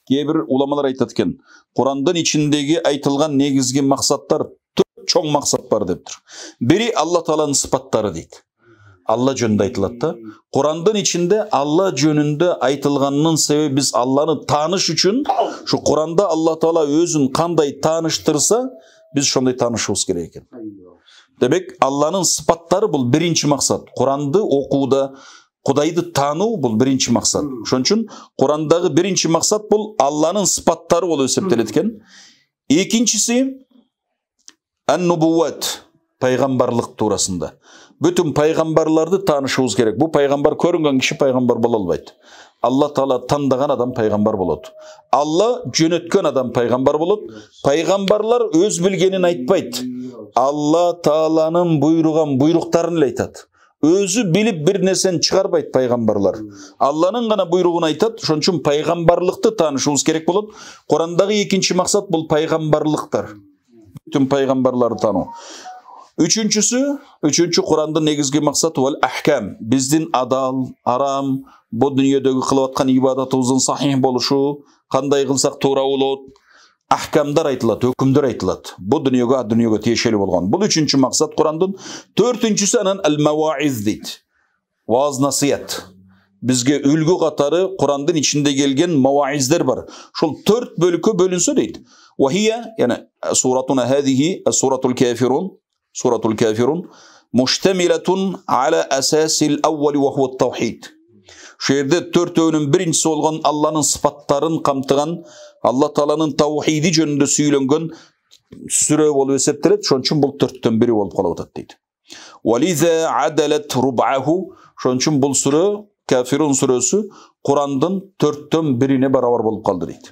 Кейбір уламалар айтады екен, Құрандың içindегі айтылған негізгі мақсаттар төрт чоң мақсат бар деп тұр. Бірі Алла Тааланың сыпаттары дейді. Алла жөнінде айтылады да. Құрандың içinde Алла жөнінде айтылғанның себебі біз Алланы таныш үшін, шу Құранда Алла Таала өзін қандай таныштырса, біз шондай танышуымыз керек екен. Демек, Алланың сыпаттары бұл бірінші мақсат. Құранды оқуда, Құдайды тану бұл бірінші мақсат. Шон үшін Құрандағы бірінші мақсат бұл Алланың сыпаттары болып есептеледі екен. Екіншісі ан-нубуат, пайғамбарлық турасында. Бүтін пайғамбарларды танышуымыз керек. Бұл пайғамбар көрінген кіші пайғамбар бола албайды. Алла Таала таңдаған адам пайғамбар болады. Алла жөнөткөн адам пайғамбар болады. Пайғамбарлар өз білгенін айтпайды. Алла Тааланың бұйырған бұйрықтарын айтады. Өзі біліп бір нәрсені шығарбайды пайғамбарлар. Алланың ғана бұйрығын айтады. Шон үшін пайғамбарлықты танышуымыз керек болады. Құрандағы екінші мақсат бұл пайғамбарлықтар. Бүтін пайғамбарларды тану. Üçüncü Kur'an'da negizgi maksatı vel ahkam. Bizden adal, aram, bu dünyadagi kılıvatkan ibadatımızın sahih boluşu, qanday qılsaq to'g'ri bo'ladi, ahkamlar aytiladi, hukmlar aytiladi. Bu dunyoga tiyesheli bo'lgan. Bu üçüncü maksat Kur'an'dan. Dördüncüsü anan el-mevaiz deydi. Vaaz nasihat. Bizge ülgü qatarı Kur'an'dan içinde gelgen mevaizler var. Şol 4 bölükü bölünse deydi. Ve hiye, yani suratuna hadihi, suratul kafirun, Suratul Kafirun müştemiletun ala asasil evveli ve huve tevhid. Şu yerde 4 öğünün birincisi olgan Allah'ın sıfatların kamtıgan, Allah Taala'nın tevhidi jönünde söylengen süre olup eseptiret. Şon üçün bu 4'ten biri olup kalabatat deydi. Velize adalet rub'ahu. Şon üçün bu süre Kafirun suresi Kur'an'dan 4'ten birine beraber bolup kaldı deydi.